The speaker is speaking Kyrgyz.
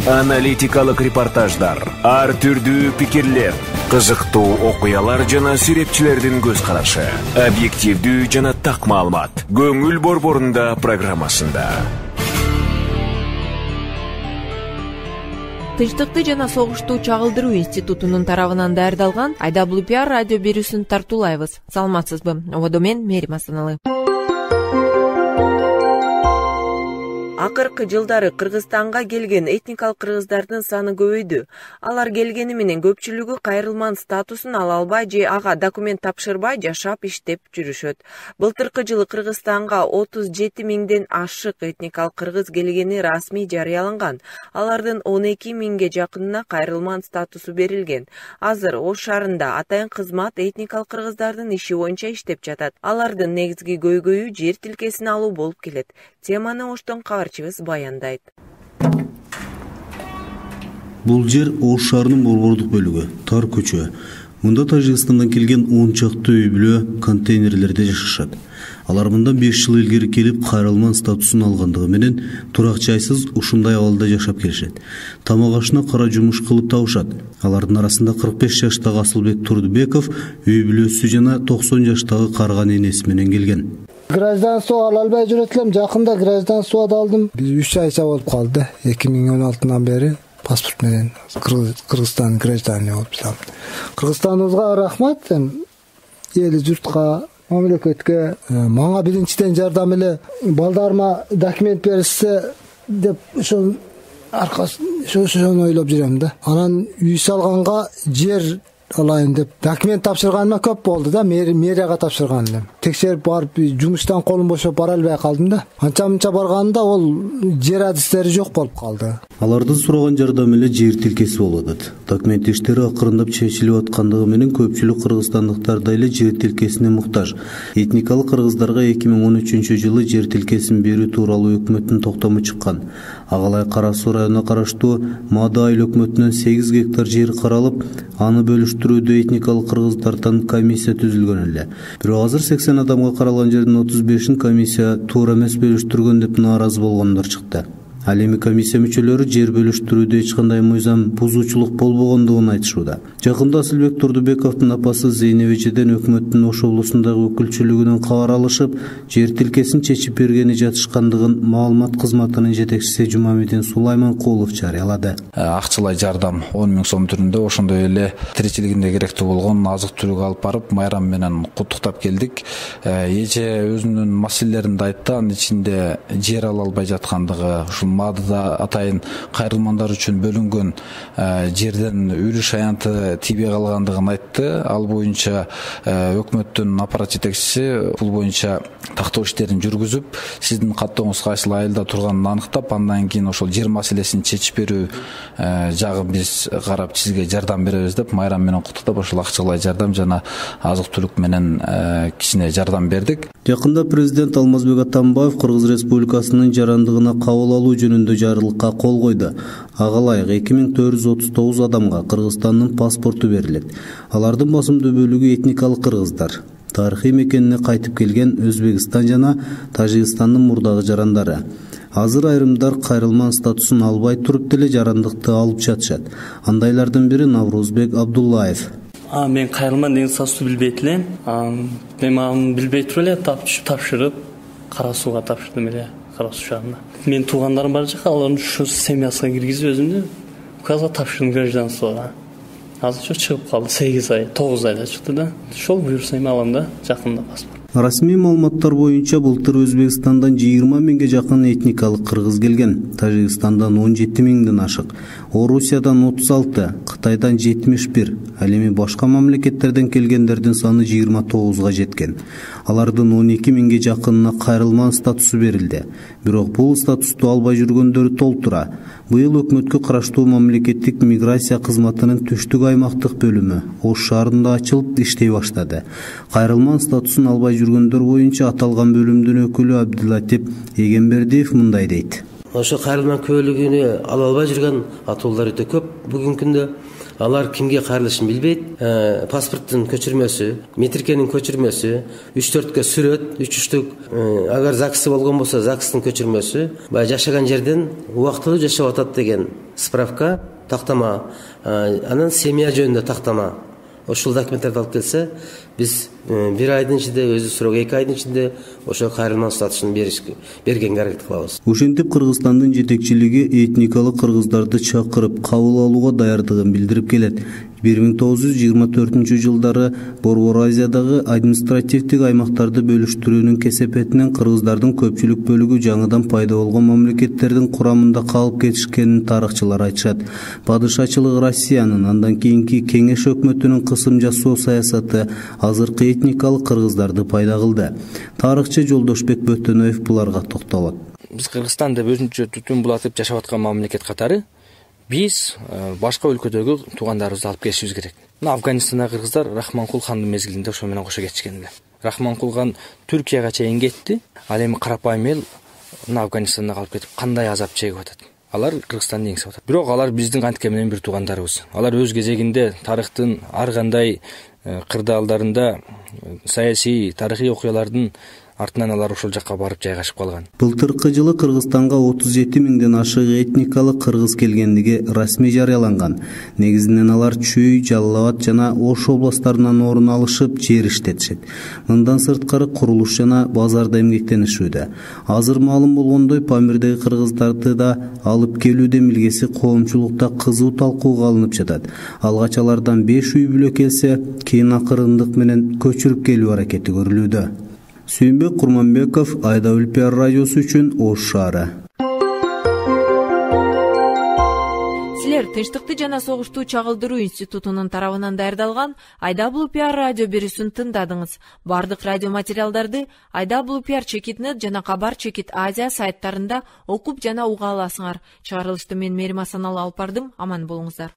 Аналитикалык репортаждар, ар түрдүү пикирлер, кызыктуу окуялар жана сүрөтчүлөрдүн көз карашы, объективдүү жана так маалымат. Көңүл борборунда программасында. Тынчтыкты жана согушту чагылдыруу институтунун тарабынан даярдалган IWPR радио берүүсүн тартуулайбыз. Саламатсызбы? Ободо мен Мерим Асаналы. Акыркы жылдары Кыргызстанга келген этникалык кыргыздардын саны көбөйдү. Алар келгени менен көпчүлүгү кайрылман статусун ала албай же ага документ тапшырбай жашап иштеп жүрүшөт. Былтыркы жылы Кыргызстанга 37 миңден ашык этникалык кыргыз келгени расмий жарыяланган. Алардын 12 миңге жакынына кайрылман статусу берилген. Азыр Ош шаарында атайын кызмат этникалык кыргыздардын иши боюнча иштеп жатат. Алардын негизги көйгөйү жер тилкесин алуу болуп келет. Теманы Оштон кабарчыбыз баяндайт. Бул жер Ош шаарынын борбордук бөлүгү, тар көчө. Мында Тажикстандан келген 10 чакты үй бүлө контейнерлерде жашашат. Алар мындан 5 жыл илгери келип кайрылман статусун алгандыгы менен турак жайсыз ушундай абалда жашап келишет. Тамак ашына кара жумуш кылып табышат. Алардын арасында 45 жаштагы Асылбек Турдубеков үй бүлөсү жана 90 жаштагы карган энеси менен келген. Гражданство ала албай жүрөт элем. Жакында гражданство да алдым. Биз 3 айча болуп калды. 2016-нан бери паспорт менен Кыргызстан граждане болуп жатам. Кыргызстаныбызга рахмат. Эли журтка, мамлекетке мага биринчиден жардам эле балдарыма документ беришсе деп ошол ошону ойлоп жүрөм да. Анан үй салганга жер алайын деп документ тапшырганыма көп болду да, мэрияга тапшырган элем. Текшерип барып жумуштан колум бошоп бара албай калдым да. Анча-мынча барганда ол жер адистери жок болуп калды. Алардын сураган жардамы эле жер тилкеси болуп атат. Документ иштери акырындап чечилип аткандыгы менен көпчүлүк кыргызстандыктар да эле жер тилкесине муктаж. Этникалык кыргыздарга 2013-жылы жер тилкесин берүү тууралуу өкмөттүн токтому чыккан. Агалай Кара Суу районуна караштуу Маада айыл өкмөтүнөн 8 гектар жер каралып, аны бөлүштүрүүдө этникалык кыргыздардан комиссия түзүлгөн эле. Бирок азыр 80 адамга каралган жердин 35-ин комиссия туура эмес бөлүштүргөн деп нааразы болгондор чыкты. Ал эми комиссия мүчөлөрү жер бөлүштүрүүдө эч кандай мыйзам бузуучулук болбогондугун айтышууда. Жакында Асылбек Турдубековдун апасы Зейнеп эжеден өкмөттүн Ош облусундагы өкүлчүлүгүнөн кабар алышып, жер тилкесин чечип бергени жатышкандыгын маалымат кызматынын жетекчиси Жумамедин Сулайманкулов жарыялады. Акчалай жардам 10 миң сом түрүндө, ошондой эле тиричилигинде керектүү болгон азык-түлүк алып барып, майрам менен куттуктап келдик. Эже өзүнүн маселелерин да айтты, анын ичинде жер ала албай жаткандыгы, ушул Маадада атайын кайрылмандар үчүн бөлүнгөн жерден үрүш аянты тийбей калгандыгын айтты. Ал боюнча өкмөттүн аппарат жетекчиси бул боюнча тактоо иштерин жүргүзүп, сиздин каттооңуз кайсыл айылда турганын аныктап, андан кийин ошол жер маселесин чечип берүү жагын биз карап сизге жардам беребиз деп майрам менен куттуктап, ошол акчалай жардам жана азык-түлүк менен кичине жардам бердик. Жакында президент Алмазбек Атамбаев Кыргыз Республикасынын жарандыгына кабыл алуу жөнүндө жарлыкка кол койду. Ага ылайык 2439 адамга Кыргызстандын паспорту берилет. Алардын басымдуу бөлүгү этникалык кыргыздар. Тарыхый мекенине кайтып келген Өзбекстан жана Тажикстандын мурдагы жарандары. Азыр айрымдар кайрылман статусун албай туруп деле жарандыкты алып жатышат. Андайлардын бири Наврузбек Абдуллаев. Мен кайрылман деген статусту билбейт элем. Мен аны билбей туруп эле тапшырып, Кара Сууга тапшырдым эле, Кара Суу шаарына. Мен туугандарым бар жака, алардын ушу семьясына киргизип өзүмдү указга тапшырдым гражданствого. Азыр чыгып калды, 8 ай, 9 айда чыкты да. Ошол буюрса эми алам да, жакында паспорт. Расмий маалыматтар боюнча былтыр Өзбекстандан 20 миңге жакын этникалык кыргыз келген. Тажикстандан 17 миңден ашык, Орусиядан 36, Кытайдан 71, ал эми башка мамлекеттерден келгендердин саны 29га жеткен. Алардын 12 миңге жакынына кайрылман статусу берилди. Бирок бул статусту албай жүргөндөрү толтура. Быйыл өкмөткө караштуу мамлекеттик миграция кызматынын түштүк аймактык бөлүмү Ош шаарында ачылып иштей баштады. Кайрылман статусун албай жүргөндөр боюнча аталган бөлүмдүн өкүлү Абдулатип Эгембердиев мындай дейт. Ошо кайрылман көбөлүгүнө ала албай жүргөн атуулар өтө көп бүгүнкү күндө. алар кимге кайрылышын билбейт. Паспорттун көчүрмөсү, метрикенин көчүрмөсү, 3-4 сүрөт, 3-3 агар ЗАГСы болгон болсо ЗАГСтын көчүрмөсү, баягы жашаган жерден убактылуу жашап атат деген справка, тактама, анан семья жөнүндө тактама. Ошол документтерди алып келсе, биз 1 айдын ичинде, өзү суроо 2 айдын ичинде ошо кайрылма статусун бергенге аракет кылабыз. Ошентип Кыргызстандын жетекчилиги этникалык кыргыздарды чакырып кабыл алууга даярдыгын билдирип келет. 1924-жылдары Борбор Азиядагы административдик аймактарды бөлүштүрүүнүн кесепетинен кыргыздардын көпчүлүк бөлүгү жаңыдан пайда болгон мамлекеттердин курамында калып кетишкенин тарыхчылар айтышат. Падышачылык Россиянын, андан кийинки Кеңеш өкмөтүнүн кысым жасоо саясаты азыркы этникалык кыргыздарды пайда кылды. Тарыхчы Жолдошбек Бөтөнөев буларга токтолот. Биз Кыргызстан деп өзүнчө түтүн булатып жашап аткан мамлекет катары биз башка өлкөдөгү туугандарыбызды алып келишибиз керек. Афганистандагы кыргыздар Рахманкул хандын мезгилинде ошо менен кошо кетишкен эле. Рахманкул хан Түркияга чейин кетти. Ал эми карапайым эл Афганистанга калып кетип кандай азап чегип атат. Алар Кыргызстанды еңсеп атат. Бирок алар биздин антке менен бир туугандарыбыз. Алар өз кезегинде тарыхтын ар кандай кырдаалдарында саясий, тарыхый окуялардын артынан алар ошол жакка барып жайгашып калган. Былтыркы жылы Кыргызстанга 37 миңден ашык этникалык кыргыз келгендиги расмий жарыяланган. Негизинен алар Чүй, Жалал Абад жана Ош областтарынан орун алышып, жер иштетишет. Мындан сырткары курулуш жана базарда эмгектенишүүдө. Азыр маалым болгондой, Памирдеги кыргыздарды да алып келүүдө милгеси коомчулукта кызуу талкууга алынып жатат. Алгач алардан 5 үй бүлө келсе, кийин акырындык менен көчүрүп келүү аракети көрүлүүдө. Сүйүнбек Курманбеков, Айда Өлпияр радиосу үчүн Ош шаары. Силер Тынчтыкты жана согушту чагылдыруу институтунун тарабынан даярдалган Айда Өлпияр радио берүүсүн тыңдадыңыз. Бардык радио материалдарды Айда Өлпияр Чекит.нет жана Кабар Чекит Азия сайттарында окуп жана уга аласыңар. Чыгарылышты мен Мерим Асаналы алып бардым. Аман болуңуздар.